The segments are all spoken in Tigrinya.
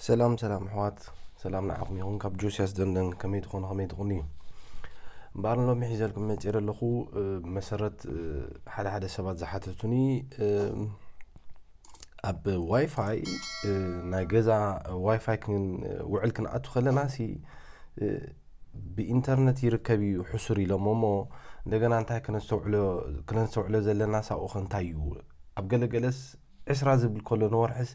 ሰላም ሰላም ኣሕዋት፣ ሰላም ንዓኹም ይኹን። ካብ ጆስያስ ደንደን፣ ከመይ ትኾኑ፣ ከመይ ትኾኑ? እምበኣር ሎሚ ሒዘልኩም መፂእ ዘለኹ፣ እ፣ ብመሰረት፣ እ፣ ሓደ ሓደ ሰባት ዝሓተቱኒ፣ እ፣ ኣብ ዋይፋይ፣ እ፣ ናይ ገዛ ዋይፋይ ክን-፣ ውዕል ክንኣቱ ከለና ሲ፣ እ፣ ብኢንተርነት ይርከብ እዩ ሕሱር ኢሎም እሞ፣ እንደገና እንታይ ክነስተውዕሎ፣ ክነስተውዕሎ ዘለና ሳኡኸ እንታይ እዩ? ኣብ ገለገለስ ዕስራ ዝብል ከሎ ንወርሕስ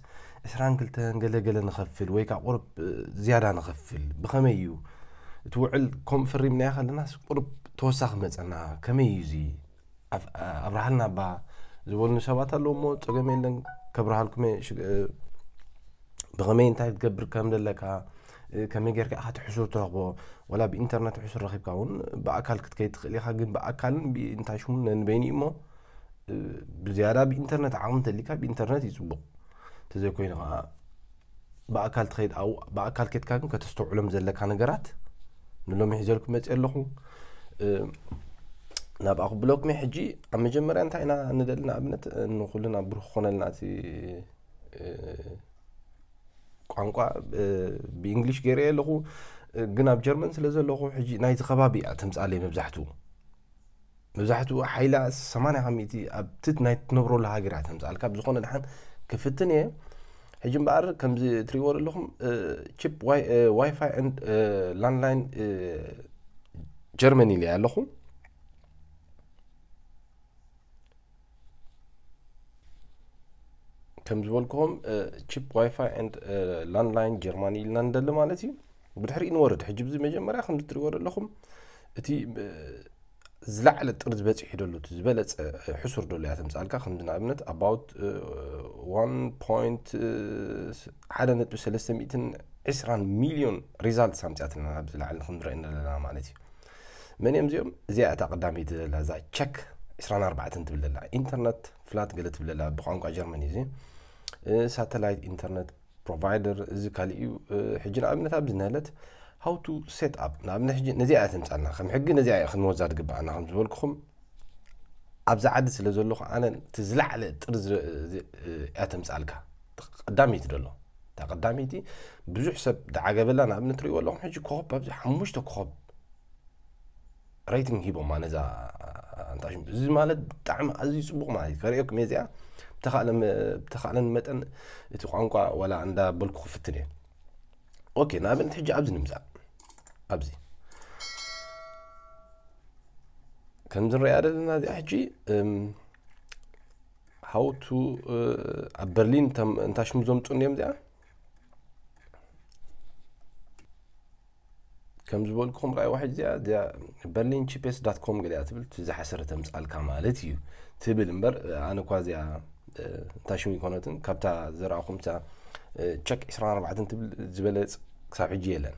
ዕስራን ክልተን ገለገለ ንኸፍል ወይ ከዓ ቁርብ፣ እ፣ ዝያዳ ንኸፍል። ብኸመይ እዩ? እቲ ውዕል ከም ፈሪምናዮ ከለናስ ቁርብ ተወሳኺ መጸና። ከመይ እዩ እዚ? ኣብ-፣ ኣብርሃልና እባ ዝበሉኒ ሰባት ኣለዉ እሞ፣ ጸገም የለን፣ ከብርሃልኩም እየ። ሽግ-፣ እ፣ ብኸመይ እንታይ ክትገብር ከም ዘለካ፣ እ፣ ከመይ ጌርካ ኢኻ እቲ ሕሱር ትረኽቦ? ዋላ ብኢንተርነት ሕሱር ረኺብካ እውን ብኣካል ክትከይድ ትኽእል ኢኻ፣ ግን ብኣካልን ብእንታይ ሽሙ ነንበይኑ እዩ እሞ፣ እ፣ ብዝያዳ ብኢንተርነት ዓቕሚ እንተሊካ ብኢንተርነት እዩ ጽቡቕ። እንተዘይኮይኑ ኸዓ ብኣካል ትኸይድ፣ ኣብኡ ብኣካል ኬድካ ግን ከተስተውዕሎም ዘለካ ነገራት ንሎሚ ሒዘልኩም መፅእ ኣለኹ። እ፣ ናብኣ ክብለኩም እየ። ሕጂ ኣብ መጀመርያ እንታይ ኢና ንደሊ? ንኣብነት፣ እ፣ ንኹልና ብሩህ ክኾነልና እቲ፣ እ፣ ቋንቋ፣ እ፣ ብእንግሊሽ ገይረ ኣለኹ፣ እ፣ ግን ኣብ ጀርመን ስለ ዘለኹ ሕጂ ናይዚ ከባቢ እያ ተምፅኣለይ መብዛሕትኡ። መብዛሕትኡ ሓይላ ሰማንያ ካብ ሚእቲ ኣብ ትት ናይ ትነብረሉ ሃገር እያ ተምፅኣልካ። ብዝኾነ ደሓን ክፍትን እየ። ሕጂ እምበኣር ከምዚ እትሪእዎ ዘለኹም፣ እ፣ ቺፕ ዋይ-፣ እ፣ ዋይፋይ ኤንድ፣ እ፣ ላንድላይን፣ እ፣ ጀርመኒ ኢለ ኣለኹ። ከም ዝበልኩኹም፣ እ፣ ቺፕ ዋይፋይ ኤንድ፣ እ፣ ላንድላይን ጀርማኒ ኢልና ንደሊ ማለት እዩ። ብድሕሪኡ ንወርድ። ሕጂ ብዚ መጀመርያ ከምዚ እትሪእዎ ዘለኹም እቲ፣ እ፣ ዝለዓለ ጥርዚ በፂሑ ደሎ፣ እቲ ዝበለፀ፣ እ፣ ሕሱር ደሎ እያ ተምፅኣልካ። ከምዚ ንኣብነት about፣ እ፣ ዋን ፖይንት፣ እ፣ ሓደ ነጥቢ ሰለስተ ሚእትን ዕስራን ሚልዮን ሪዛልትስ ኣምፅኣትና ኣብዚ ላዕሊ ክንርኢ ዘለና ማለት እዩ። መን እዮም እዚኦም? እዚኣ እታ ቀዳመይቲ ዘላ፣ እዛ ቸክ ዕስራን ኣርባዕተን ትብል ዘላ፣ ኢንተርነት ፍላት ገለ ትብል ዘላ፣ ብቋንቋ ጀርመን እዩ እዚ። እ፣ ሳተላይት ኢንተርነት ፕሮቫይደር፣ እዚ ካሊእ እዩ። እ፣ ሕጂ ንኣብነት ኣብዚ ነለት how to set up፣ ንኣብነት ሕጂ ነዚኣ እያ ተምጻልና፣ ከም ሕጊ ነዚኣ እያ ክንወዛ ዝግብኣና። ከም ዝበልኩኹም ኣብዚ ዓዲ ስለ ዘለኹ ኣነ እቲ ዝለዓለ ጥርዚ፣ እ፣ እያ ተምጻልካ። ቀዳመይቲ ደሎ፣ እታ ቀዳመይቲ ብዙሕ ሰብ ደዓገበላ። ንኣብነት ትሪእዎ ኣለኹም ሕጂ ኮኸብ ኣብዚ ሓሙሽተ ኮኸብ ሬቲንግ ሂቦማ ነዛ ኣንታ ሽም። እዚ ማለት ብጣዕሚ ኣዝዩ ጽቡቕ ማለት እዩ። ከርእየኩም እየ እዚኣ። ብተኻእለ መ-፣ ብተኻእለኒ መጠን እቲ ቋንቋ ዋላ እንዳበልኩ ክፍትን እየ። ኦኬ፣ ንኣብነት ሕጂ ኣብዚ ንምጻእ። ኣብዚ ከምዚ ንሪኣ ዘለና እዚኣ ሕጂ፣ እም፣ how to፣ እ፣ ኣብ በርሊን ተም-፣ እንታ ሽሙ ዘምጹ እንዲዮም እዚኣ። ከም ዝበልኩኹም ራእይ ዋሕድ እዚኣ፣ እዚኣ በርሊን ቺፔስት ዳት ኮም ገሊኣ ትብል፣ እቲ ዝሓሰረ ተምጻልካ ማለት እዩ ትብል እምበር፣ ኣነ እኳ እዚኣ፣ እ፣ እንታ ሽሙ ይኮነትን፣ ካብታ ዘረኣኹም እታ፣ እ፣ ቸክ ዕስራን ኣርባዕተን ትብል ዝበለጽ ክሳብ ሕጂ የለን።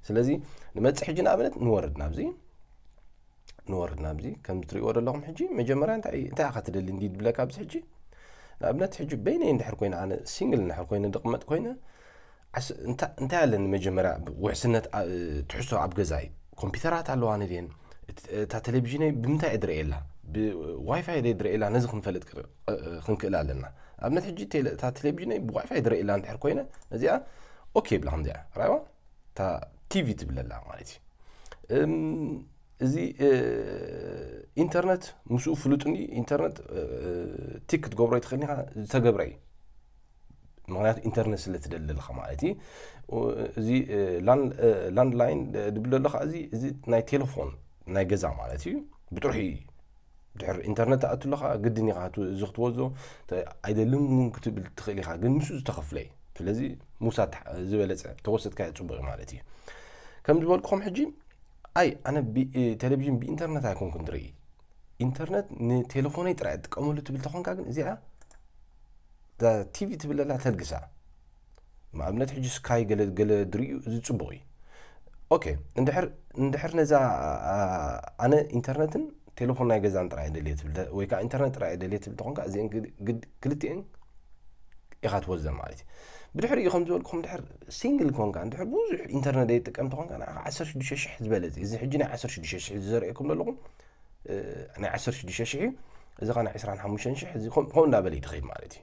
ስለዚ ንመጽእ ሕጂ ንኣብነት ንወርድ ናብዚ፣ ንወርድ ናብዚ። ከም ትሪእዎ ዘለኹም ሕጂ መጀመርያ እንታይ፣ እንታይ ኢኻ ትደሊ እንዲ ድብለካ ኣብዚ ሕጂ? ንኣብነት ሕጂ በይነይ እንድሕር ኮይነ፣ ኣነ ሲንግል እንድሕር ኮይነ፣ ድቕመጥ ኮይነ፣ ዓስ-፣ እንታ-፣ እንታይ ኣለኒ መጀመርያ ውሕስነት፣ ኣ-፣ ትሕዝቶ ኣብ ገዛይ ኮምፒውተራት ኣለዋኒ ድየን? እት-፣ እታ ቴሌቪዥነይ ብምንታይ እየ ድርእየላ? ብዋይፋይ ድየ ድርእየላ? ነዚ ክንፈልጥ ክር-፣ እ-፣ እ-፣ ክንክእል ኣለና። ኣብነት ሕጂ ቴለ-፣ እታ ቴሌቪዥነይ ብዋይፋይ ድርእየላ እንድሕር ኮይነ፣ ነዚኣ ኦኬ ይብላ። ከምዚኣ ራይዋ፣ እታ ቲቪ ትብለላ ማለት እዩ። እም፣ እዚ፣ እ፣ ኢንተርነት ምስኡ ፍሉጥኒ፣ ኢንተርነት፣ እ፣ ቲክ ክትገብሮ ይትኽእል ኢኻ፣ ዝተገብረ እዩ። ምኽንያቱ ኢንተርነት ስለ ትደሊ ኣለኻ ማለት እዩ። እዚ፣ እ፣ ላን-፣ እ፣ ላንድላይን ድብል ኣሎ ኸዓ፣ እዚ፣ እዚ ናይ ቴሌፎን ናይ ገዛ ማለት እዩ። ብጥርሑ እዩ። ድሕሪ ኢንተርነት ትኣቱ ኣለኻ፣ ግድን ኢኻ እቲ፣ እዚ ክትወዞ፣ ተ-፣ ኣይደልን እውን ክትብል ትኽእል ኢኻ፣ ግን ምስኡ ዝተኸፍለ እዩ። ስለዚ ምውሳድ ተሓ-፣ ዝበለጸ፣ ተወሰድካዮ ጽቡቕ እዩ ማለት እዩ። ከም ዝበልኩኹም ሕጂ፣ ኣይ፣ ኣነ ቢ-፣ ቴሌቪዥን ብኢንተርነት ኣይኮንኩን ዝርኢ። ኢንተርነት ንቴሌፎነይ ጥራይ እጥቀመሉ ትብል ተኾንካ ግን እዚኣ እዛ ቲቪ ትብል ዘላ ተልግሳ። ንኣብነት ሕጂ ስካይ ገለ፣ ገለ ድርእዩ እዚ ጽቡቕ እዩ። ኦኬ፣ እንድሕር፣ እንድሕር ነዛ፣ ኣ-፣ ኣነ ኢንተርነትን ቴሌፎን ናይ ገዛን ጥራይ እየ ደልየ ትብል ተ-፣ ወይ ከኣ ኢንተርነት ጥራይ እየ ደልየ ትብል ተኾንካ እዚአን ግድ-፣ ግድ-፣ ክልቲአን ኢኻ ትወዘን ማለት እዩ። ብድሕሪኡ ከም ዝበልኩኹም እንድሕር ሲንግል ኮንካ፣ እንድሕር ብዙሕ ኢንተርነት ዘይትጥቀም ተኾንካ ንዓኻ ዓሰርተ ሽዱሽተ ሽሕ ዝበለጸ እዩ። እዚ ሕጂ ናይ ዓሰርተ ሽዱሽተ ሽሕ እዚ ዘርእየኩም ዘለኹም፣ እ፣ ናይ ዓሰርተ ሽዱሽተ ሽሕ እዩ። እዚ ኸኣ ናይ ዕስራን ሓሙሽተን ሽሕ፣ እዚ ከም-፣ ከምኡ እንዳበለ እዩ ዝኸይድ ማለት እዩ።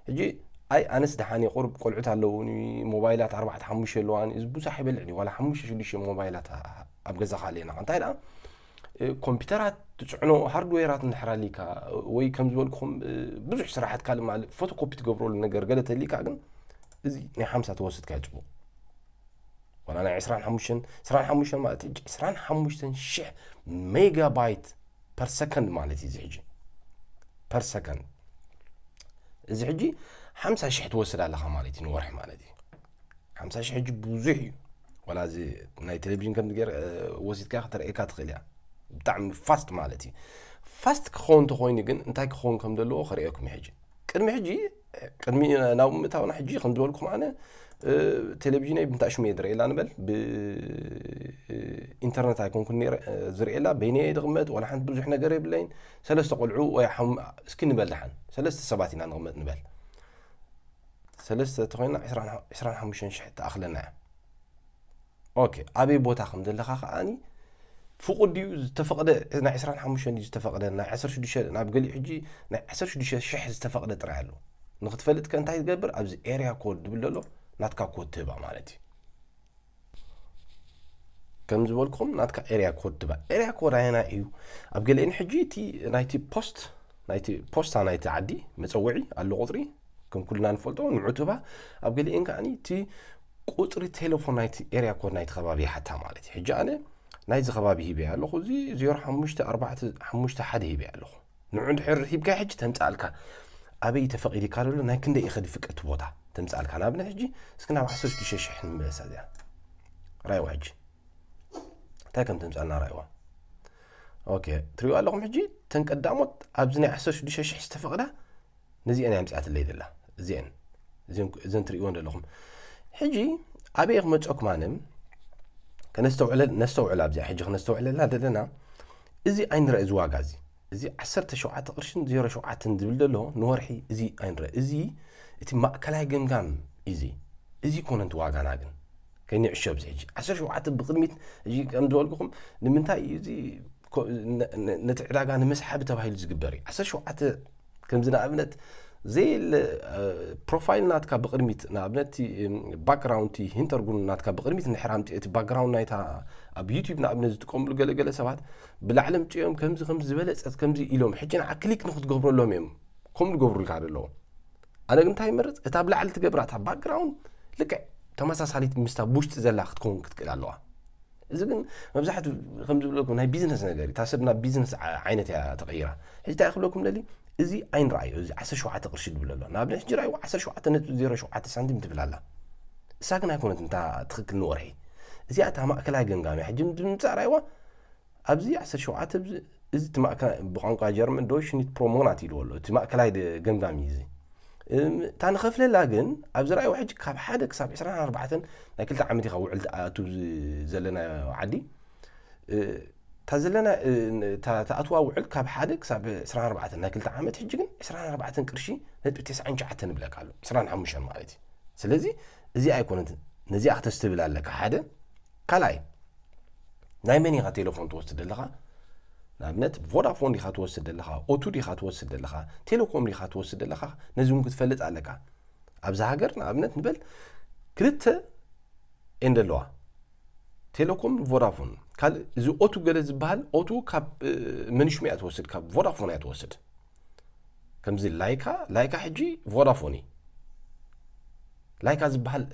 ሕጂ ኣይ ኣነስ ደሓን እየ፣ ቁሩብ ቆልዑት ኣለውኒ፣ ሞባይላት ኣርባዕተ ሓሙሽተ ኣለዋኒ፣ እዚ ብዙሕ ኣይበልዕን እዩ። ዋላ ሓሙሽተ ሽዱሽተ ሞባይላት ኣ- ኣብ ገዛኻ ኣለና። እንታይ ደኣ እ፣ ኮምፒውተራት ትጽዕኖ ሃርድዌራት እንድሕር ኣሊካ ወይ ከም ዝበልኩኹም እ፣ ብዙሕ ስራሓት ካልእ ማለት ፎቶኮፒ ትገብረሉ ነገር ገለ ተሊካ ግን እዚ ናይ ሓምሳ ተወስድካ እዩ ጽቡቕ። ዋላ ናይ ዕስራን ሓሙሽተን ዕስራን ሓሙሽተን ማለት ሕጂ ዕስራን ሓሙሽተን ሽሕ ሜጋባይት ፐር ሰከንድ ማለት እዩ። እዚ ሕጂ ፐር ሰከንድ እዚ ሕጂ ሓምሳ ሽሕ ትወስድ ኣለኻ ማለት እዩ ንወርሒ ማለት እዩ። ሓምሳ ሽሕ ሕጂ ብዙሕ እዩ። ዋላ እዚ ናይ ቴሌቪዥን ከም ገር ወሲድካ ከተርእየካ ትኽእል እያ። ብጣዕሚ ፋስት ማለት እዩ። ፋስት ክኸውን እንተኮይኑ ግን እንታይ ክኸውን ከም ዘለዎ ከርእየኩም እዩ። ሕጂ ቅድሚ ሕጂ ቅድሚ ናብ ምእታውና ሕጂ ከም ዝበልኩም ኣነ እ፣ ቴሌቪዥነይ ብንታሽሙ እየ ዝርእየላ ንበል፣ ብኢንተርነት ኣይኮንኩን ነይረ እ፣ ዝርእየላ፣ በይነየ ድቕመጥ ዋላ ሓንቲ ብዙሕ ነገር የብለይን። ሰለስተ ቆልዑ ወይ ሓም- እስኪ ንበል ደሓን ሰለስተ ሰባት ኢና ንቕመጥ ንበል። ሰለስተ ተኮይና ዕስራን ሓሙሽተን ሽሕ ትኣኽለና እያ። ኦኬ፣ ኣበይ ቦታ ከም ዘለኻ ከኣኒ ፍቑድ ድዩ ዝተፈቕደ? ናይ ዕስራን ሓሙሽተን ድዩ ዝተፈቕደ? ናይ ዓሰርተ ሽዱሽተ ናብ ገሊኡ ሕጂ ናይ ዓሰርተ ሽዱሽተ ሽሕ ዝተፈቕደ ጥራይ ኣሎ። ንክትፈልጥ ከ እንታይ ትገብር? ኣብዚ ኤርያ ኮድ ዝብል ዘሎ ናትካ ኮድ ትህባ ማለት እዩ። ከም ዝበልኩም ናትካ ኤርያ ኮድ ትባ ኤርያ ኮድ ኣየና እዩ? ኣብ ገሊአን ሕጂ እቲ ናይቲ ፖስት ናይቲ ፖስታ ናይቲ ዓዲ መፀውዒ ኣሎ ቁፅሪ ከም ኩልና ንፈልጦ ንዑ ትባ። ኣብ ገሊአን ከዓ እቲ ቁፅሪ ቴሌፎን ናይቲ ኤርያ ኮድ ናይቲ ከባቢ ይሓታ ማለት እዩ። ሕጂ ኣነ ናይዚ ከባቢ ሂበ ኣለኹ፣ እዚ ዜሮ ሓሙሽተ ኣርባዕተ ሓሙሽተ ሓደ ሂበ ኣለኹ። ንዑ ድሕር ሂብካ ሕጂ ተምፃልካ ኣበይ ተፈቒድካ ዘሎ ናይ ክንደይ ኢኸ ድፍቀት ቦታ ተምፃልካ። ንኣብነት ሕጂ እስኪ ናብ ዓሰርተ ሽዱሽተ ሽሕ ንመለሳ እዚኣ ራይዋ ሕጂ እንታይ ከም ተምፃልና ራይዋ። ኦኬ ትሪኡ ኣለኹም ሕጂ ተን ቀዳሞት ኣብዚ ናይ ዓሰርተ ሽዱሽተ ሽሕ ዝተፈቕዳ ነዚአን እያ ምፅኣትለይ ዘላ። እዚአን እዘን እዘን ትሪእወን ዘለኹም ሕጂ ኣበይ ክመፀኩም ኣነ ከነስተውዕለ ነስተውዕል ኣብዚኣ ሕጂ ክነስተውዕለላ ዘለና እዚ ኣይንረአ እዚ ዋጋ እዚ እዚ ዓሰርተ ሸውዓተ ቅርሽን ዜሮ ሸውዓተን ዝብል ዘሎ ንወርሒ እዚ ኣይንረአ እዚ እቲ ማእከላይ ገምጋም እዚ እዚ ኮነ እቲ ዋጋና ግን ከይንዕሾ ኣብዚ ሕጂ ዓሰርተ ሸውዓተ ብቕድሚት ሕጂ ከም ዝበልኩኹም ንምንታይ እዩ እዚ ኮ- ነ- ነ- ነቲ ዕዳጋ ንምስሓብ ተባሂሉ ዝግበር እዩ ዓሰርተ ሸውዓተ ከምዚ ንኣብነት ዘየለ ፕሮፋይል ናትካ ብቕድሚት ንኣብነት ባክግራውንድ ሂንተርጉን ናትካ ብቕድሚት እንድሕር ኣምፅኦ እቲ ባክግራውንድ ናይታ ኣብ ዩቲብ ንኣብነት ዝጥቀምሉ ገለገለ ሰባት ብላዕሊ ምፅኦም ከምዚ ከም ዝበለፀት ከምዚ ኢሎም ሕጂ ንዓ ክሊክ ንክትገብረሎም እዮም ከምኡ ዝገብሩልካ ዘለዉ ኣነ ግን እንታይ ይመርፅ እታ ብላዕሊ ትገብራ እታ ባክግራውንድ ልክዕ ተመሳሳሊት ምስታ ብውሽጢ ዘላ ክትከውን ክትክእል ኣለዋ እዚ ግን መብዛሕትኡ ከም ዝብለኩም ናይ ቢዝነስ ነገር እዩ። እታ ሰብ ናብ ቢዝነስ ዓ- ዓይነት እያ ተቐይራ። ሕጂ እንታይ ክብለኩም ደሊ እዚ ኣይንረኣዮ እዚ ዓሰርተ ሸውዓተ ቅርሺ ድብል ኣሎ ንኣብነት ሕጂ ራእይዎ ዓሰርተ ሸውዓተ ነጥቢ ዜሮ ሸውዓተ ሳንቲም ትብል ኣላ። እሳ ግን ኣይኮነት እንታ ትኽክል ንወርሒ እዚኣ እታ ማእከላይ ገምጋም እያ። ሕጂ ድምፃ ራእይዋ ኣብዚ ዓሰርተ ሸውዓተ እዚ እቲ ማእከላይ ብቋንቋ ጀርመን ዶይሽ ኒት ፕሮ ሞናት ኢልዎ ኣሎ። እቲ ማእከላይ ደ- ገምጋም እዩ እዚ። እም፣ እታ ንኸፍለላ ግን ኣብ ዝረኣይዎ ሕጂ ካብ ሓደ ክሳብ ዕስራን ኣርባዕተን ናይ ክልተ ዓመት ኢኻ ውዕል ትኣቱ ዝ- ዘለናዮ ዓዲ እ፣ እታ ዘለና እ፣ ን- እታ ትኣትዋ ውዕል ካብ ሓደ ክሳብ ዕስራን ኣርባዕተን ናይ ክልተ ዓመት ሕጂ ግን ዕስራን ኣርባዕተን ቅርሺ ነጥቢ ተስዓን ትሽዓተን ይብለካ ኣሎ ዕስራን ሓሙሽተን ማለት እዩ። ስለዚ እዚ ኣይኮነት ነዚኣ ክተስተብል ኣለካ ሓደ ካልኣይ ናይ መን ኢኻ ቴሌፎን ትወስድ ዘለኻ ንኣብነት ቮዳፎን ዲኻ ትወስድ ዘለኻ ኦቱ ዲኻ ትወስድ ዘለኻ ቴሌኮም ዲኻ ትወስድ ዘለኻ ነዚ እውን ክትፈልጥ ኣለካ ኣብዚ ሃገር ንኣብነት ንበል ክልተ እየን ዘለዋ ቴሌኮም ቮዳፎን ካልእ እዚ ኦቱ ገለ ዝበሃል ኦቱ ካብ መንሽሙ እያ ትወስድ ካብ ቮዳፎን እያ ትወስድ ከምዚ ላይካ ላይካ ሕጂ ቮዳፎን እዩ ላይካ ዝበሃል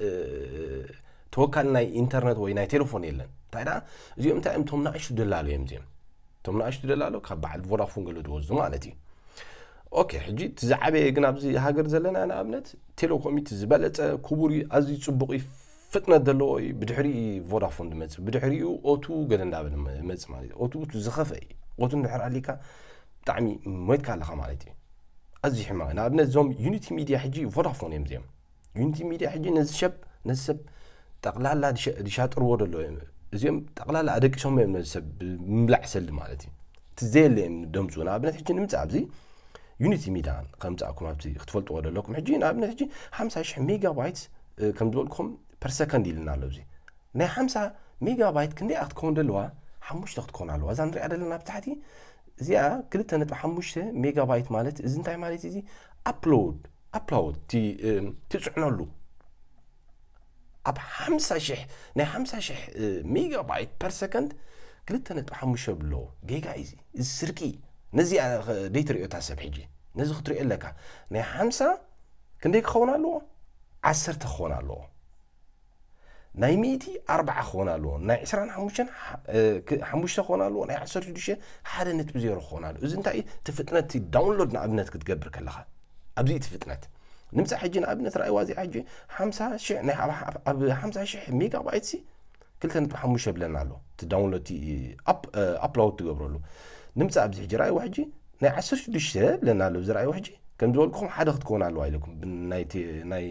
ተወካሊ ናይ ኢንተርነት ወይ ናይ ቴሌፎን የለን እንታይ ደኣ እዚኦም እንታይ እዮም ቶም ንኣሽቱ ደላሎ እዮም እዚኦም ቶም ንኣሽቱ ደላሎ ካብ በዓል ቮዳፎን ገለ ዝወስዱ ማለት እዩ ኦኬ ሕጂ እቲ ዝዓበየ ግን ኣብዚ ሃገር ዘለና ንኣብነት ቴሌኮም እቲ ዝበለፀ ክቡር እዩ ኣዝዩ ፅቡቕ እዩ ፍጥነት ዘለዎ እዩ ብድሕሪ ቮዳፎን ዝመፅእ ብድሕሪኡ ኦቱ ገለ እንዳበለ መፅእ ማለት እዩ ኦቱ ዝኸፈ እዩ ኦቱ እንድሕር ኣሊካ ብጣዕሚ ሞይትካ ኣለኻ ማለት እዩ ኣዝዩ ሕማቕ ንኣብነት እዞም ዩኒቲ ሚድያ ሕጂ ቮዳፎን እዮም እዚኦም ዩኒቲ ሚድያ ሕጂ ነዚ ሰብ ነዚ ሰብ ጠቕላላ ዝሻጥርዎ ደሎ እዮም እዚኦም ጠቕላላ ኣደቂሶም እዮም ነዚ ሰብ ምብላዕ ሰሊ ማለት እዩ እቲ ዘየለ እዮም ደምፁ ንኣብነት ሕጂ ንምፃእ ኣብዚ ዩኒቲ ሚድያ ከምፃእኩም ኣብዚ ክትፈልጥዎ ደለኩም ሕጂ ንኣብነት ሕጂ ሓምሳ ሽሕ ሜጋባይት ከም ዝበልኩም ፐር ሰከንድ ኢልና ኣሎ እዚ ናይ ሓምሳ ሜጋባይት ክንደይ ክትከውን ደለዋ ሓሙሽተ ክትከውን ኣለዋ እዛ ንሪኣ ዘለና ብታሕቲ እዚኣ ክልተ ነጥቢ ሓሙሽተ ሜጋባይት ማለት እዚ እንታይ ማለት እዚ ኣፕሎድ ኣፕሎድ ትፅዕነሉ ኣብ ሓምሳ ሽሕ ናይ ሓምሳ ሽሕ ሜጋባይት ፐር ሰከንድ ክልተ ነጥቢ ሓሙሽተ ብሎ ጌጋ እዩ። እዚ ስርቂ ነዚ ደይትሪኦ እታ ሰብ ሕጂ ነዚ ክትሪኦ ኣለካ። ናይ ሓምሳ ክንደይ ክኸውን ኣለዎ? ዓሰርተ ክኸውን ኣለዎ። ናይ ሚእቲ ኣርባዓ ክኾን ኣለዎ። ናይ ዕስራን ሓሙሽተን ሓሙሽተ ክኾን ኣለዎ። ናይ ዓሰርተ ሽዱሽተ ሓደ ነጥቢ ዜሮ ክኾን ኣለዎ። እዚ እንታይ እዩ? እቲ ፍጥነት ዳውንሎድ ንኣብነት ክትገብር ከለኻ ኣብዚ እቲ ፍጥነት ንምፃእ ሕጂ ንኣብነት ራእይዋ እዚኣ ሕጂ ሓምሳ ሽሕ ናይ ኣብ ሓምሳ ሽሕ ሜጋባይት ሲ ክልተ ነጥቢ ሓሙሽተ ብለና ኣሎ። እቲ ዳውንሎድ ኣፕሎድ ትገብረሉ ንምፃእ ኣብዚ ሕጂ ራእይዋ ሕጂ ናይ ዓሰርተ ሽዱሽተ ብለና ኣሎ። እዚ ራእይዋ ሕጂ ከም ዝበልኩኹም ሓደ ክትከውን ኣለዋ ኢለኩም ናይ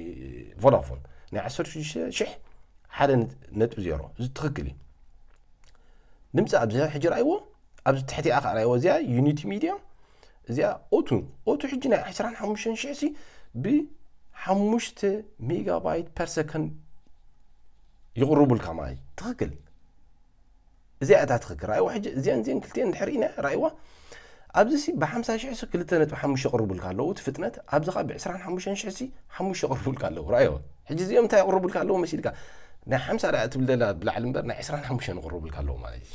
ቮዳፎን ናይ ዓሰርተ ሽዱሽተ ሽሕ ሓደ ነጥቢ ዜሮ እዚ ትኽክል እዩ። ንምፃእ ኣብዚ ሕጂ ራእይዎ ኣብዚ ትሕቲኣ ከዓ ራእይዎ እዚኣ ዩኒቲ ሚድያ እዚኣ ኦቱ ኦቱ ሕጂ ናይ ዓሰርተ ሓሙሽተ ሽሕ ሲ ብሓሙሽተ ሜጋባይት ፐር ሰከንድ ይቕርቡልካ ማለት ትኽክል። እዚኣ እታ ትኽክል ራእይዎ ሕጂ እዚኣን እዚአን ክልቲአን እንድሕር ኢና ራእይዋ ኣብዚ ሲ ብሓምሳ ሽሕ ሲ ክልተ ነጥቢ ሓሙሽተ ይቕርቡልካ ኣለዉ እቲ ፍጥነት ኣብዚ ከዓ ብዕስራን ሓሙሽተን ሽሕ ሲ ሓሙሽተ ይቕርቡልካ ኣለዉ ራእይዎ። ሕጂ እዚኦም እንታይ ይቕርቡልካ ኣለዉ መሲልካ ናይ ሓምሳ ዳኣ ትብል ደላ ብላዕሊ እምበር ናይ ዕስራን ሓሙሽተን ይቕርቡልካ ኣለዉ ማለት እዩ።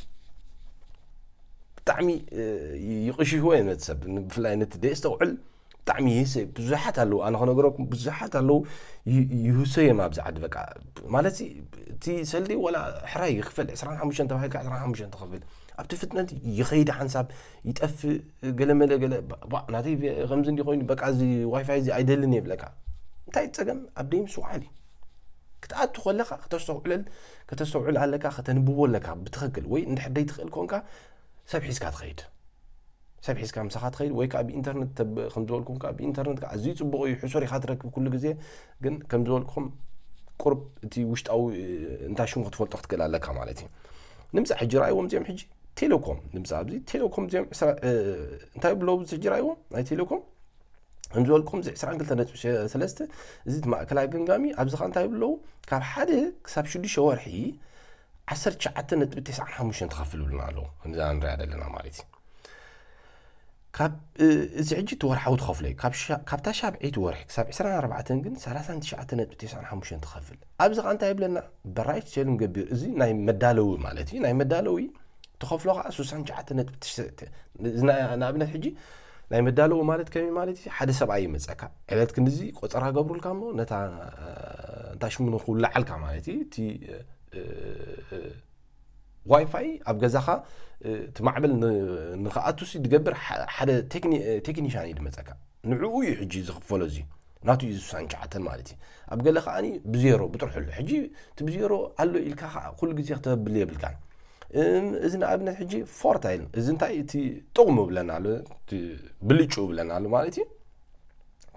ብጣዕሚ ይቕሽሽዎ እዮም ነቲ ሰብ ብፍላይ ነቲ ደየስተውዕል ብጣዕሚ ይህሰ ብዙሓት ኣለዉ ኣነ ከነገረኩም ብዙሓት ኣለዉ ይህሰ እዮም ኣብዚ ዓዲ በቃ ማለት እቲ ሰልዲ ወላ ሕራይ ይኽፈል ዕስራን ሓሙሽተን ተባሂልካ ዕስራን ሓሙሽተን ትኽፍል ኣብቲ ፍጥነት ይኸይድ ሓንሳብ ይጠፍእ ገለመለ ገለ ናተይ ከምዚ እንዲ ኮይኑ በቃ እዚ ዋይፋይ እዚ ኣይደልን የብለካ እንታይ ፀገም ኣብ ደይምስ ውዓል እዩ ክትኣቱ ከለካ ከተስተውዕለል ከተስተውዕል ኣለካ ከተንብቦ ኣለካ ብትኽክል ወይ እንድሕር ደይትኽእል ኮንካ ሰብ ሒዝካ ትኸይድ ሰብ ሒዝካ ምሳኻ ትኸይድ ወይ ከዓ ብኢንተርነት ከም ዝበልኩም ከዓ ብኢንተርነት ከዓ ኣዝዩ ፅቡቕ እዩ ሕሱር ኢኻ ትረክብ ኩሉ ግዜ ግን ከም ዝበልኩም ቁርብ እቲ ውሽጣዊ እንታይ ሽሙ ክትፈልጦ ክትክእል ኣለካ ማለት እዩ ንምፃ ሕጂ ረኣይዎም እዚኦም ሕጂ ቴሌኮም ንምፃ ኣብዚ ቴሌኮም እዚኦም እንታይ ብለው ሕጂ ረኣይዎም ናይ ቴሌኮም ከም ዝበልኩም እዚ ዕስራን ክልተ ነጥቢ ሰለስተ እዚ እቲ ማእከላይ ገምጋሚ ኣብዚ ኸ እንታይ ብለው ካብ ሓደ ክሳብ ሽዱሽተ ወርሒ ዓሰርተ ትሽዓተ ነጥቢ ተስዓን ሓሙሽተን ትኸፍል ብሉና ኣለዉ ከምዚ ንሪኣ ዘለና ማለት እዩ ካብ እዚ ሕጂ እቲ ወርሓዊ ትኸፍሎ እዩ ካብታ ሻብዐይቲ ወርሒ ክሳብ ዕስራን ኣርባዕተን ግን ሰላሳን ትሽዓተ ነጥቢ ተስዓን ሓሙሽተን ትኸፍል ኣብዚ ኸ እንታይ ይብለና በራይት ሴሉም ገቢር እዚ ናይ መዳለዊ ማለት እዩ ናይ መዳለዊ ትኸፍሎ ከዓ ስሳን ትሽዓተ ነጥቢ ትሽዓተ ንኣብነት ሕጂ ናይ መዳለዊ ማለት ከመይ ማለት እዩ ሓደ ሰብኣይ ይመፀካ ዕለት ክንድዚ ቆፀራ ገብሩልካ እሞ ነታ እንታይ ሽሙ ንክውላዓልካ ማለት እዩ እቲ ዋይፋይ ኣብ ገዛኻ እቲ ማዕበል ንክኣቱሲ ዝገብር ሓደ ቴክኒሻን እዩ ዝመፀካ ንዕኡ እዩ ሕጂ ዝኽፈሎ እዚ ናቱ እዩ ዝሳን ሸዓተን ማለት እዩ ኣብ ገለ ከዓኒ ብዜሮ ብጥርሑ ኣሎ ሕጂ እቲ ብዜሮ ኣሎ ኢልካ ከዓ ኩሉ ግዜ ክተብል የብልካን እዚ ንኣብነት ሕጂ ፎርታ ኢል እዚ እንታይ እቲ ጥቕሙ ብለና ኣሎ ብልጩ ብለና ኣሎ ማለት እዩ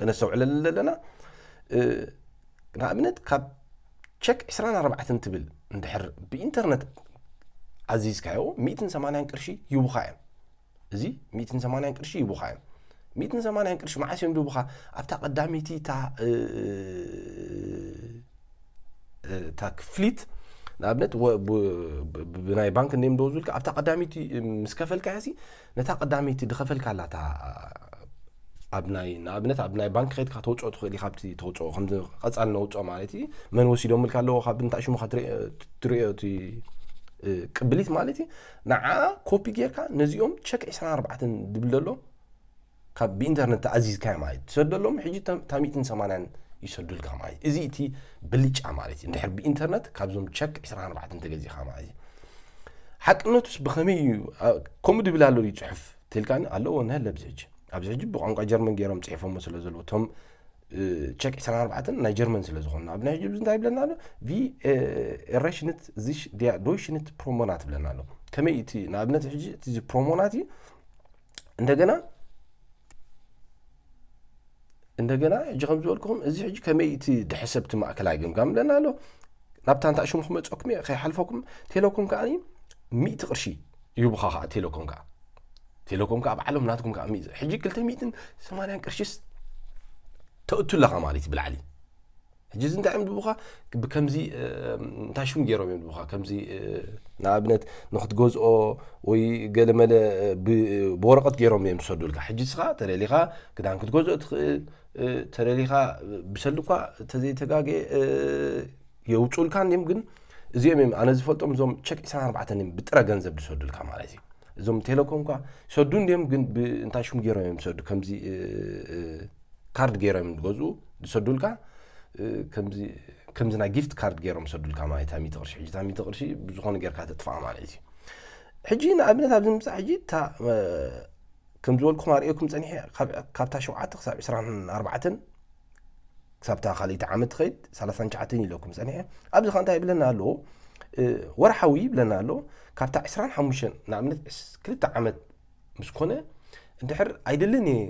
ክነስተውዕለሉ ዘለና ንኣብነት ካብ ቸክ ዕስራን ኣርባዕተን ትብል እንድሕር ብኢንተርነት ኣዚዝካዮ ሚእትን ሰማንያን ቅርሺ ይቡኻ እዮም እዚ ሚእትን ሰማንያን ቅርሺ ይቡኻ እዮም ሚእትን ሰማንያን ቅርሺ መዓስ እዮም ድቡኻ ኣብታ ቀዳመይቲ እታ እታ ክፍሊት ንኣብነት ብናይ ባንክ እንደ ምደወዙልካ ኣብታ ቀዳመይቲ ምስ ከፈልካ ያሲ ነታ ቀዳመይቲ ድኸፈልካ ኣላታ ኣብ ናይ ንኣብነት ኣብ ናይ ባንክ ከድካ ተውፅኦ ትኽእል ኢኻ ኣብቲ ተውፅኦ ከምዚ ቀፃል ነውፅኦ ማለት እዩ መን ወሲዶምልካ ኣለዎ ካብ እንታይ ሽሙኻ ትሪኦ እቲ ቅብሊት ማለት እዩ ንዓ ኮፒ ጌርካ ነዚኦም ቸክ ዕስራን ኣርባዕተን ድብል ዘሎ ካብ ብኢንተርነት ተኣዚዝካዮ ማለት እዩ ትሰደሎም ሕጂ ታሚእትን ሰማንያን ይሰዱልካ ማለት እዩ እዚ እቲ ብልጫ ማለት እዩ እንድሕር ብኢንተርነት ካብዞም ቸክ ዕስራን ኣርባዕተን ተገዚእካ ማለት እዩ ሓቅነቱስ ብኸመይ እዩ ከምኡ ድብል ኣሎ ድዩ ፅሑፍ ትልካኒ ኣለዎ ነህለ ኣብዚ ሕጂ ኣብዚ ሕጂ ብቋንቋ ጀርመን ገይሮም ፅሒፎሞ ስለ ዘለዎ እቶም ቸክ ዕስራን ኣርባዕተን ናይ ጀርመን ስለ ዝኾኑ ኣብ ናይ ሕጂ እንታይ ይብለና ኣሎ ቪ ኤረሽንት ዚሽ ዲያ ዶይሽንት ፕሮሞናት ይብለና ኣሎ ከመይ እቲ ንኣብነት ሕጂ እቲ ፕሮሞናት እዩ እንደገና እንደገና ሕጂ ከም ዝበልኩኹም እዚ ሕጂ ከመይ እቲ ድሕሰብ እቲ ማእከላይ ግምጋም ብለና ኣሎ ናብታ እንታይ ሽሙ ክመፀኩም እየ ከይሓልፈኩም ቴሌኮም ከዓ ሚእቲ ቅርሺ ይቡኻ ከዓ ቴሌኮም ከዓ ቴሌኮም ከዓ ባዕሎም ናትኩም ከዓ ሚእቲ ሕጂ ክልተ ሚእትን ሰማንያን ቅርሺስ ተእቱ ኣለኻ ማለት እዩ ብላዕሊ ሕጂ እዚ እንታይ እዮም ድቡኻ ብከምዚ እንታይ ሽሙ ገይሮም እዮም ድቡኻ ከምዚ ንኣብነት ንክትገዝኦ ወይ ገለመለ ብወረቐት ገይሮም እዮም ዝሰዱልካ ሕጂ ስኻ ተደሊኻ ክዳን ክትገዝኦ ትኽእል ተደሊኻ ብሰልዲ እኳ ተዘይተጋገ የውፁልካ እንዲም። ግን እዚኦም እዮም ኣነ ዝፈልጦም፣ እዞም ቸክ ዕስራን ኣርባዕተን እዮም ብጥረ ገንዘብ ዝሰዱልካ ማለት እዩ። እዞም ቴሌኮም እኳ ሰዱ እንዲም፣ ግን እንታይ ሽሙ ገይሮም እዮም ዝሰዱ? ከምዚ ካርድ ገይሮም ዝገዝኡ ዝሰዱልካ፣ ከምዚ ናይ ጊፍት ካርድ ገይሮም ዝሰዱልካ ማለት እዩ። ሚእቲ ቅርሺ፣ ሕጂ እታ ሚእቲ ቅርሺ ብዝኾነ ጌርካ ተጥፋኣ ማለት እዩ። ሕጂ ንኣብነት ኣብዚ ምምፃእ ሕጂ እታ ከም ዝበልኩም ኣርእየኩም ፀኒሐ፣ ካብታ ሸውዓተ ክሳብ ዕስራን ኣርባዕተን፣ ክሳብታ ካልኣይቲ ዓመት ትኸይድ ሰላሳን ትሽዓተን ኢለኩም ፀኒሐ። ኣብዚ ከ እንታይ ይብለና ኣሎ? ወርሓዊ ይብለና ኣሎ። ካብታ ዕስራን ሓሙሽተን ንኣብነት ክልተ ዓመት ምስ ኮነ፣ እንድሕር ኣይደልን እየ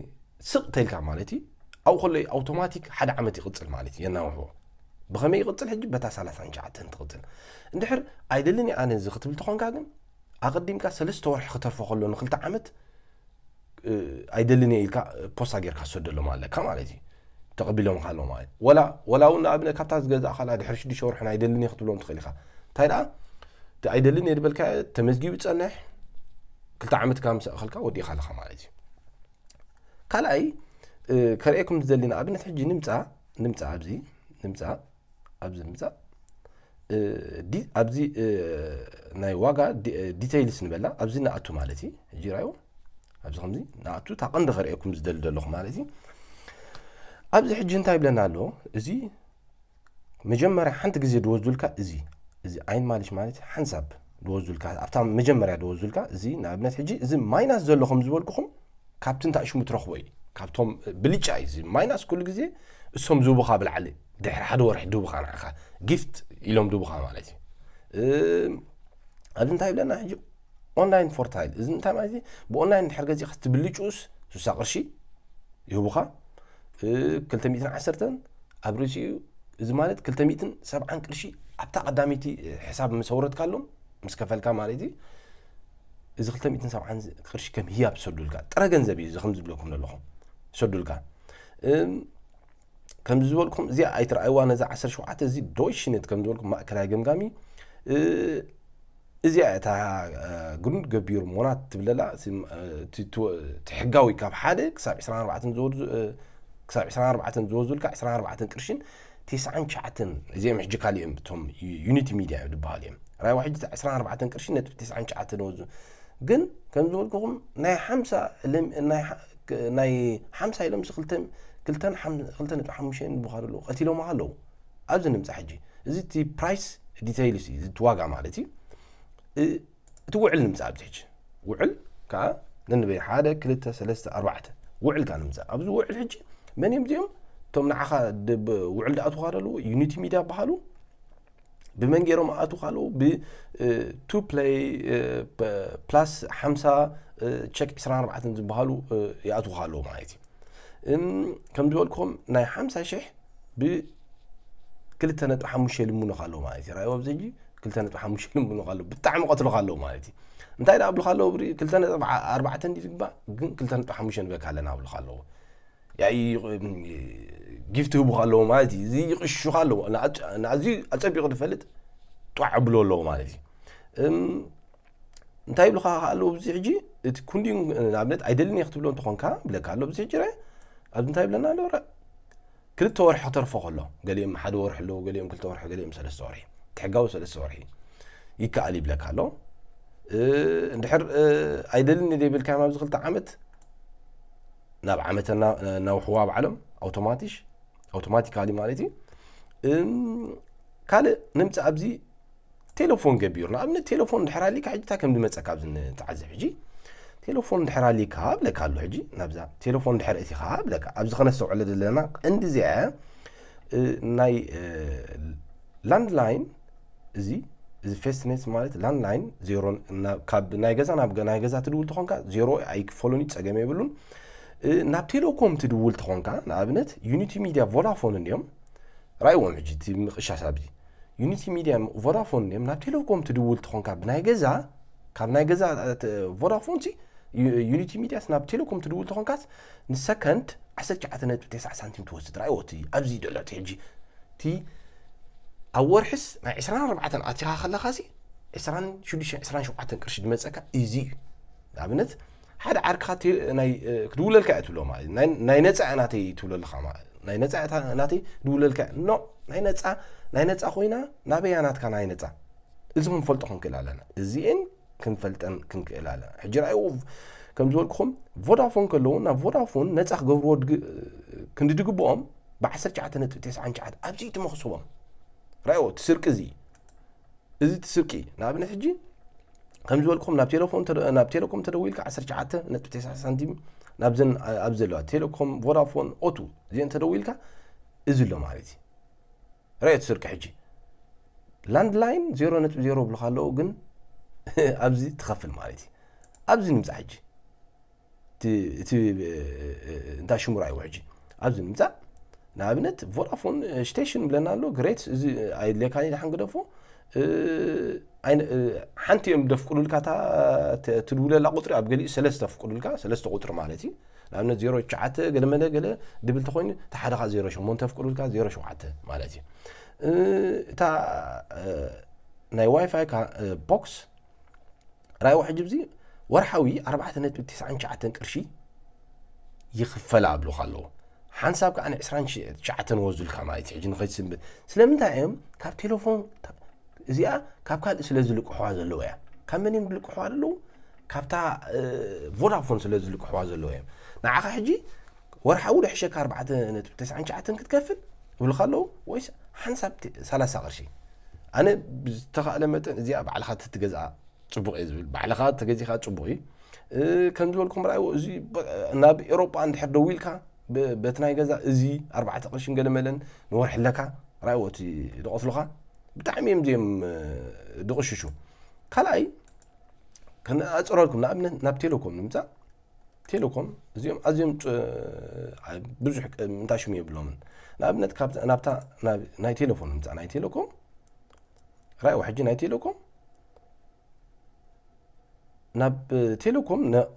ስቕ ተልካ ማለት እዩ። ኣብኡ ከሎ ኣውቶማቲክ ሓደ ዓመት ይቕፅል ማለት እዩ፣ የናውሕዎ። ብኸመይ ይቕፅል? ሕጂ በታ ሰላሳን ትሽዓተን ትቕፅል። እንድሕር ኣይደልን እየ ኣነ እዚ ክትብል ተኾንካ ግን፣ ኣቐዲምካ ሰለስተ ወርሒ ክተርፎ ከሎ ንክልተ ዓመት ኣይደልን እየ ኢልካ ፖስታ ጌርካ ዝሰደሎም ኣለካ ማለት እዩ። ተቐቢሎም ካሎ ማለት ወላ ወላ እውን ንኣብነት ካብታ ዝገዛእ ካላ ድሕሪ ሽዱሽተ ወርሒ ኣይደልን እየ ክትብሎም ትኽእል ኢኻ። እንታይ ደኣ እቲ ኣይደልን እየ ዝበልካ ተመዝጊቡ ጸንሕ፣ ክልተ ዓመት ካብ ምስ ኣኸልካ ወዲእካ ኣለኻ ማለት እዩ። ካልኣይ ከርእየኩም ዝደሊ ንኣብነት ሕጂ ንምፃ ንምፃ ኣብዚ ንምፃ ኣብዚ ንምፃ ኣብዚ ናይ ዋጋ ዲቴይልስ ንበላ ኣብዚ ንኣቱ ማለት እዩ። ሕጂ ራዮ ኣብዚ ከምዚ ንኣቱ እታ ቀንዲ ከርእየኩም ዝደሊ ዘለኹ ማለት እዩ። ኣብዚ ሕጂ እንታይ ይብለና ኣሎ? እዚ መጀመርያ ሓንቲ ግዜ ድወስዱልካ እዚ እዚ ዓይን ማሊሽ ማለት ሓንሳብ ድወስዱልካ ኣብታ መጀመርያ ድወስዱልካ እዚ ንኣብነት ሕጂ እዚ ማይናስ ዘሎ ከም ዝበልኩኹም ካብቲ እንታይ ሽሙ ትረኽቦ እዩ። ካብቶም ብልጫ እዩ እዚ ማይናስ ኩሉ ግዜ እሶም ዝህቡኻ ብላዕሊ ድሕሪ ሓደ ወርሒ ድህቡኻ ንዓኻ ጊፍት ኢሎም ድህቡኻ ማለት እዩ። ኣብዚ እንታይ ይብለና ሕጂ ኦንላይን ፎርታይል እዚ እንታይ ማለት እዩ? ብኦንላይን ድሕር ገዚእካ ትብልጭኡስ ሱሳ ቅርሺ ይህቡኻ። ክልተ ሚእትን ዓሰርተን ኣብ ርእሲኡ እዚ ማለት ክልተ ሚእትን ሰብዓን ቅርሺ ኣብታ ቀዳመይቲ ሕሳብ ምስ ኣውረድካሎም ምስ ከፈልካ ማለት እዩ። እዚ ክልተ ሚእትን ሰብዓን ቅርሺ ከም ህያብ ዝሰዱልካ ጥረ ገንዘብ እዩ። እዚ ከም ዝብለኩም ዘለኹም ዝሰዱልካ ከምዚ ዝበልኩም እዚኣ ኣይትረኣይዋ ነዛ ዓሰርተ ሸውዓተ እዚ ዶይሽነት ከም ዝበልኩም ማእከላይ ገምጋሚ እዚኣ እታ ግሩንድ ገቢር ሞናት ትብለላ እቲ ሕጋዊ ካብ ሓደ ክሳብ ዕስራን ኣርባዕተን ዝወርዱ ክሳብ ዕስራን ኣርባዕተን ዝወዙልካ ዕስራን ኣርባዕተን ቅርሽን ተስዓን ትሽዓተን እዚኦም ሕጂ ካሊኦም እቶም ዩኒቲ ሚድያ ዝበሃሉ እዮም። ራይዋ ሕጂ ዕስራን ኣርባዕተን ቅርሽን ነጥቢ ተስዓን ትሽዓተን ወዙ ግን ከም ዝበልኩኹም ናይ ሓምሳ ናይ ሓምሳ ኢሎም ክልተ ነጥቢ ሓሙሽተ ብኻሉ ኣለዉ ቀቲሎም ኣለዉ። ኣብዚ ንምፃ ሕጂ እዚ እቲ ፕራይስ ዲተይልስ እዩ እቲ ዋጋ ማለት እዩ። እቲ ውዕል ንምፃ ኣብዚ ሕጂ ውዕል ከዓ ነንበይ ሓደ ክልተ ሰለስተ ኣርባዕተ ውዕል ከዓ ንምፃ ኣብዚ ውዕል ሕጂ መን እዮም እዚኦም እቶም ንዓኻ ውዕል ድኣትውካ ዘለዉ ዩኒቲ ሚድያ በሃሉ ብመን ገይሮም ኣእትውካ ኣለዉ ብ ቱ ፕለይ ፕላስ ሓምሳ ቸክ ዕስራን ኣርባዕተን ዝበሃሉ ይኣትውካ ኣለዉ ማለት እዩ። ከም ዝበልኩም ናይ ሓምሳ ሽሕ ብ ክልተ ነጥቢ ሓሙሽተ ይልምኑኻ ኣለዉ ማለት እዩ። ራእይዎ ኣብዚ ሕጂ ክልተ ነጥቢ ሓሙሽተ ይልምኑኻ ኣለዉ ብጣዕሚ ቀትሉኻ ኣለዉ ማለት እዩ። እንታይ ደኣ ኣብሉኻ ኣለዉ ብሪ ክልተ ነጥቢ ኣርባዕተ እንዲ ዝግባእ ግን ክልተ ነጥቢ ሓሙሽተ ንበካ ኣለና ኣብሉኻ ኣለዉ። ያይ ጊፍት ህቡኻ ኣለዉ ማለት እዩ። እዚ ይቕሹኻ ኣለዉ ንኣዝዩ ኣጸቢቑ ዝፈልጥ ጧዕ ኣብሎ ኣለዉ ማለት እዩ። እንታይ ይብሉኻ ኣለዉ ኣብዚ ሕጂ እቲ ኩንዲን ንኣብነት ኣይደልን እየ ክትብሎ እንተኾንካ ብለካ ኣሎ ኣብዚ ሕጂ ረ ኣብዚ እንታይ ይብለና ኣሎ ረ ክልተ ወርሒ ክተርፎ ከሎ ገሊኦም ሓደ ወርሒ ኣለዉ ገሊኦም ክልተ ወርሒ ገሊኦም ሰለስተ ወርሒ ትሕጋዊ ሰለስተ ወርሒ ይከኣል ይብለካ ኣሎ። እንድሕር ኣይደልን እየ ዘይብልካ ኣብዚ ክልተ ዓመት ናብ ዓመተ ናውሕዋ ባዕሎም ኣውቶማቲሽ ኣውቶማቲካሊ ማለት እዩ። ካልእ ንምፅእ ኣብዚ ቴሌፎን ገቢሩ ንኣብነት ቴሌፎን ድሕር ኣሊካ ሕጂ እንታይ ከም ዝመፀካ ኣብዚ ንተዓዘብ ሕጂ ቴሌፎን ድሕር ኣሊካ ብለካ ኣሎ ሕጂ ናብዛ ቴሌፎን ድሕር እቲኻ ብለካ ኣብዚ ከነስተውዕለ ዘለና ቀንዲ እዚኣ ናይ ላንድላይን እዚ እዚ ፌስትኔት ማለት ላንድላይን ዜሮን ካብ ናይ ገዛ ናብ ናይ ገዛ ትድውል ተኾንካ ዜሮ ኣይክፈሉን እዩ ፀገም የብሉን። ናብ ቴሌኮም ትድውል ተኾንካ ንኣብነት ዩኒቲ ሚድያ ቮዳፎን እንዲዮም ራእይዎም ሕጂ እቲ ምቕሻስ ኣብዚ ዩኒቲ ሚድያ ቮዳፎን እንዲዮም ናብ ቴሌኮም ትድውል ተኾንካ ብናይ ገዛ ካብ ናይ ገዛ ቮዳፎን ሲ ዩኒቲ ሚድያስ ናብ ቴሌኮም ትድውል ተኾንካስ ንሰከንድ ዓሰርተ ትሽዓተ ነጥቢ ተስዓ ሳንቲም ትወስድ ራእይዎ እቲ ኣብዚ ደሎ እቲ ሕጂ እቲ ኣብ ወርሕስ ናይ ዕስራን ኣርባዕተን ኣቲኻ ከለኻ ሲ ዕስራን ሽዱሽተን ዕስራን ሸውዓተን ቅርሺ ዝመፀካ እዚ እዩ። ንኣብነት ሓደ ዓርክኻ ቴ- ናይ እ፣ ክድውለልካ እያ ትብሎ ማለት እዩ። ናይ ናይ ነፃ እያ ናተይ ትብሎ ኣለኻ ማለት እዩ። ናይ ነፃ እያ እታ ናተይ ድውለልካ እያ። ኖ ናይ ነፃ ናይ ነፃ ኮይና ናበያ ናትካ ናይ ነፃ እዚ ክንፈልጦ ክንክእል ኣለና። እዚኤን ክንፈልጠን ክንክእል ኣለና። ሕጂ ራእይዎ ከም ዝበልኩኹም ቮዳፎን ከለዉ ናብ ቮዳፎን ነፃ ክገብርዎ ድግ- ክንዲ ድግብኦም ብ19.99 ኣብዚ ትመኽስቦም ራእይዎ እቲ ስርቂ እዚ እዚ እቲ ስርቂ ንኣብነት ሕጂ ከም ዝበልኩም ናብ ቴሌፎን ተደ- ናብ ቴሌኮም ተደዊልካ 19.90 ሳንቲም ናብዘን ኣብ ዘለዋ ቴሌኮም ቮዳፎን ኦቱ እዚአን ተደዊልካ እዚ ኣሎ ማለት እዩ። ራእዮ እቲ ስርቂ ሕጂ ላንድ ላይን 0.0 ብልካ ኣለዉ ግን ኣብዚ ትኸፍል ማለት እዩ። ኣብዚ ንምፃ ሕጂ እቲ እቲ እንታ ሽሙ ራእይዎ ሕጂ ኣብዚ ንምፃ ንኣብነት ቮዳፎን ስቴሽን ብለና ኣሎ ግሬት እዚ ኣይድለካ ድሓን ግደፎ እ፣ ኣይነ- እ፣ ሓንቲ እዮም ደፍቅዱልካ እታ ተ- ትድውለላ ቁፅሪ ኣብ ገሊኡ ሰለስተ ፍቅዱልካ ሰለስተ ቁፅሪ ማለት እዩ። ንኣብነት ዜሮ ትሽዓተ ገለመለ ገለ ድብል ተኮይኑ እቲ ሓደ ከዓ ዜሮ ሸሞንተ ፍቅዱልካ ዜሮ ሸውዓተ ማለት እዩ። እ፣ እታ እ፣ ናይ ዋይፋይ ካ- እ፣ ቦክስ ራእይዋ ሕጂ ብዚ ወርሓዊ ኣርባዕተ ነጥቢ ተስዓን ትሽዓተን ቅርሺ ይኽፈላ ኣብሉኻ ኣለዉ። ሓንሳብ ከዓ ን29 ወዙልካ ማለት እዩ። ሕጂ ንኸይትስንብድ ስለምንታይ እዮም ካብ ቴሌፎን እዚኣ ካብ ካልእ ስለ ዝልቅሕዋ ዘለዉ እያ። ካብ መን እዮም ዝልቅሕዋ ዘለዉ? ካብታ እ፣ ቮዳፎን ስለ ዝልቅሕዋ ዘለዉ እዮም። ንዓኻ ሕጂ ወርሓዊ ዶ ሕሸካ ኣርባዕተ ነጥቢ ተስዓን ትሽዓተን ክትከፍል ይብልካ ኣለዉ ወይስ ሓንሳብ ተ- ሰላሳ ቅርሺ? ኣነ ብዝተኻእለ መጠን እዚኣ ባዕልኻ ትትገዝኣ ፅቡቕ እየ ዝብል። ባዕልኻ ተገዚኻ ፅቡቕ እዩ። እ፣ ከም ዝበልኩም ራእይዎ እዚ በ- ናብ ኤሮጳ እንድሕር ደዊልካ ብ- በቲ ናይ ገዛ እዚ ኣርባዕተ ቅርሽን ገለመለን ንወርሒ ኣለካ ራእይዎ እቲ ዝቐትሉኻ ብጣዕሚ እዮም እዚኦም እ፣ ድቕሽሹ። ካልኣይ ከነኣፅረልኩም ንኣብነት ናብ ቴሌኮም ንምፃእ ቴሌኮም እዚኦም ኣዝዮም ፅ- ኣ- ብዙሕ ቅ- ምንታይ ሽሙ የብሎምን። ንኣብነት ካብ ናብታ ናብ- ናይ ቴሌፎን ንምፃእ ናይ ቴሌኮም ራእይዎ ሕጂ ናይ ቴሌኮም ናብ ቴሌኮም ነ-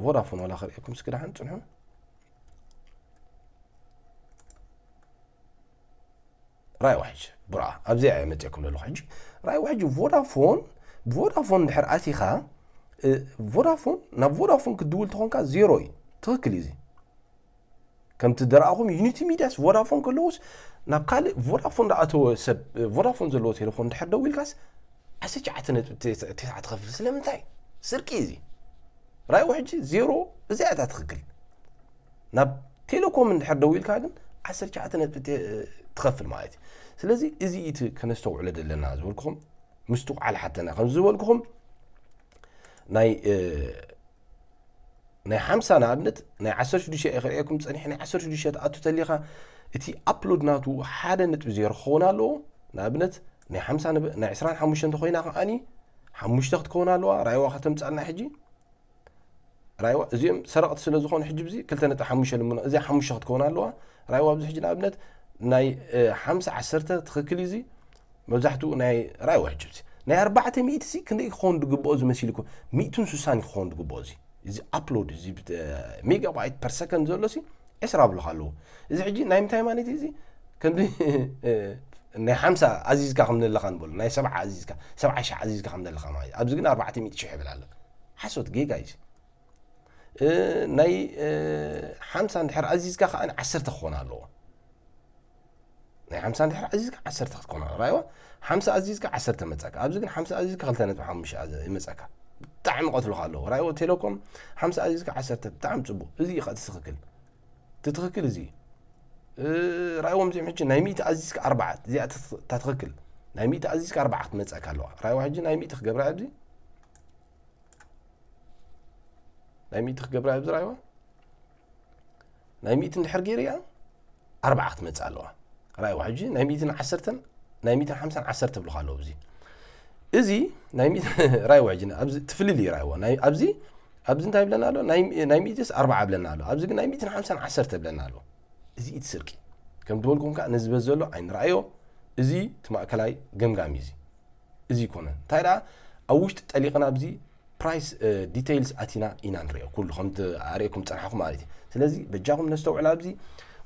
ቮዳፎን ዋላ ክርእየኩም እስኪ ደሓን ፅንሑ። ራእይዎ ሕጂ ብራ ኣብዚኣ እየ መፅእኩም ዘለኹ። ሕጂ ራእይዎ ሕጂ ቮዳፎን ቮዳፎን ድሕር ኣቲኻ እ፣ ቮዳፎን ናብ ቮዳፎን ክትድውል ተኾንካ ዜሮ እዩ። ትኽክል እዩ እዚ። ከምቲ ደረኣኹም ዩኒቲ ሚድያስ ቮዳፎን ከለዎስ ናብ ካልእ ቮዳፎን ዝኣተወ ሰብ እ፣ ቮዳፎን ዘለዎ ቴሌፎን ድሕር ደዊልካስ 19.9 ትኸፍል ስለምንታይ? ስርቂ እዚ ራእይዎ ሕጂ ዜሮ እዚኣ እታ ትኽክል። ናብ ቴሌኮም እንድሕር ደዊልካ ግን 19 ነጥቢ ተ- ትኸፍል ማለት እዩ። ስለዚ እዚ እቲ ከነስተውዕሎ ዘለና ዝበልኩኹም ምስትውዓል ሓተና ከም ዝበልኩኹም ናይ እ፣ ናይ ሓምሳ ንኣብነት ናይ ዓሰርተ ሽዱሽተ እየ ክርእየኩም ፀኒሐ ናይ ዓሰርተ ሽዱሽተ ትኣቱ ተሊኻ እቲ ኣፕሎድ ናቱ ሓደ ነጥቢ ዜሮ ክኸውን ኣለዎ። ንኣብነት ናይ ሓምሳ ንብ- ናይ ዕስራን ሓሙሽተ እንተኮይና ከዓኒ ሓሙሽተ ክትከውን ኣለዋ። ራይዋ ከተምፃልና ሕጂ ራይዋ እዚኦም ሰረቕቲ ስለ ዝኾኑ ሕጂ ብዚ ክልተ ነጥቢ ሓሙሽተ ልምኖ እዚኣ ሓሙሽተ ክትከውን ኣለዋ። ራይዋ ኣብዚ ሕጂ ንኣብነት ናይ እ፣ ሓምሳ ዓሰርተ ትኽክል እዩ እዚ መብዛሕትኡ ናይ ራይዋ ሕጂ ብዚ ናይ ኣርባዕተ ሚእቲ ሲ ክንደይ ክኸውን ዝግብኦ እዚ መሲልኩም ሚእትን ስሳን ክኸውን ዝግብኦ እዚ እዚ ኣፕሎድ እዚ ብት- ሜጋባይት ፐር ሰከንድ ዘሎ ሲ ዕስራ ብልካ ኣለዎ። እዚ ሕጂ ናይ ምንታይ ማለት እዩ እዚ ከምዚ እ፣ ናይ ሓምሳ ኣዚዝካ ከም ዘለካ ንበሉ ናይ ሰብዓ ኣዚዝካ ሰብዓ ሺሕ ኣዚዝካ ከም ዘለካ ማለት እዩ። ኣብዚ ግን ኣርባዕተ ሚእቲ ሺሕ ይብል ኣሎ። ሓሶት ጌጋ እዩ። እ፣ ናይ እ፣ ሓምሳ እንድሕር ኣዚዝካ ከዓ ዓሰርተ ክኾን ኣለዎ። ናይ ሓምሳ እንድሕር ኣዚዝካ ዓሰርተ ክትኮን ኣለዎ። ራይዋ ሓምሳ ኣዚዝካ ዓሰርተ መጻካ። ኣብዚ ግን ሓምሳ ኣዚዝካ ክልተ ነጥቢ ሓሙሽተ ኣዘ- ይመጻካ። ብጣዕሚ ቀትልካ ኣለዎ። ራይዎ ቴሌኮም ሓምሳ ኣዚዝካ ዓሰርተ ብጣዕሚ ጽቡቕ። እዚ እዩ እቲ ትኽክል። እቲ ትኽክል እዚ እዩ። እ፣ ራይዎም እዚኦም ሕጂ ናይ ሚእቲ ኣዚዝካ ኣርባዓ እዚኣ እታ ትኽ- እታ ትኽክል ናይ ሚእቲ ኣዚዝካ ኣርባዓ ክትመጻካ ኣለዋ። ራይዋ ሕጂ ናይ ሚእቲ ክገብራ ኣብዚ ናይ ሚእቲ ክገብራ ኣብዚ ራይዋ ናይ ሚእቲ እንድሕር ገይርያ ኣርባዓ ክትመፅእ ኣለዋ። ራይዋ ሕጂ ናይ ሚእትን ዓሰርተን ናይ ሚእትን ሓምሳን ዓሰርተ ብልካ ኣለዉ። እዚ እዚ ናይ ሚእቲ ራይዋ ሕጂ ኣብዚ ትፍልል እዩ ራይዋ ናይ ኣብዚ ኣብዚ እንታይ ብለና ኣሎ ናይ ናይ ሚእትስ ኣርባዓ ብለና ኣሎ። ኣብዚ ግን ናይ ሚእትን ሓምሳን ዓሰርተ ብለና ኣሎ። እዚ እቲ ስርቂ ከም ዝበልኩም ከዓ ነዚ በዚ ዘሎ ኣይንረኣዮ። እዚ እቲ ማእከላይ ገምጋም እዩ። እዚ እዚ ይኮነ እንታይ ደኣ ኣብ ውሽጢ ጠሊቕና ኣብዚ ፕራይስ ዲቴይልስ ኣቲና ኢና ንሪኦ ኩሉ ከምቲ ኣርእኩም ፀናሕኩ ማለት እዩ። ስለዚ በጃኹም ነስተውዕል ኣብዚ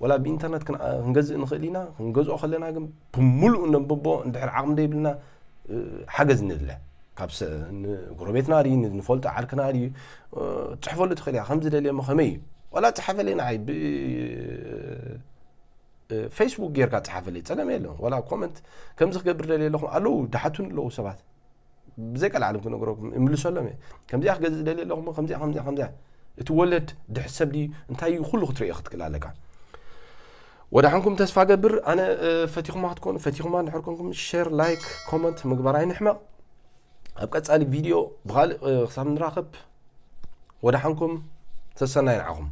ወላ ብኢንተርነት ክን- ክንገዝእ ንኽእል ኢና። ክንገዝኦ ከለና ግን ብምሉእ ነንብቦ እንድሕር ዓቕሚ ዘይብልና እ፣ ሓገዝ ንድለ። ካብ ጎረቤትና ድዩ ንፈልጦ ዓርክና ድዩ? ትፅሕፈሉ ትኽእል እያ። ከምዚ ደልየ ሞ ከመይ እዩ? ዋላ ፀሓፈለይ ንዓይ ብ ፌስቡክ ጌርካ ፀሓፈለይ፣ ፀገም የለን። ዋላ ኮመንት ከምዚ ክገብር ደልየ ኣለኹ ኣለዉ፣ ድሓቱን ኣለዉ ሰባት። ብዘይ ቀልዓለም ክነግረኩም እምልሰሎም እየ። ከምዚኣ ክገዝእ ደልየ ኣለኹ፣ ከምዚኣ ከምዚኣ ከምዚኣ። እቲ ወለድ ድሕሰብ ድዩ እንታይ እዩ ኩሉ ክትርእዮ ክትክእል ኣለካ። ወደ ሓንኩም ተስፋ ገብር። ኣነ ፈቲኹማ ክትኮኑ ፈቲኹማ እንድሕር ኮንኩም ሼር፣ ላይክ፣ ኮመንት ምግባር ኣይንሕመቕ። ኣብ ቀጻሊ ቪድዮ ብኻልእ ክሳብ ንራኸብ ወደ ሓንኩም ተሰናይ ንዓኹም።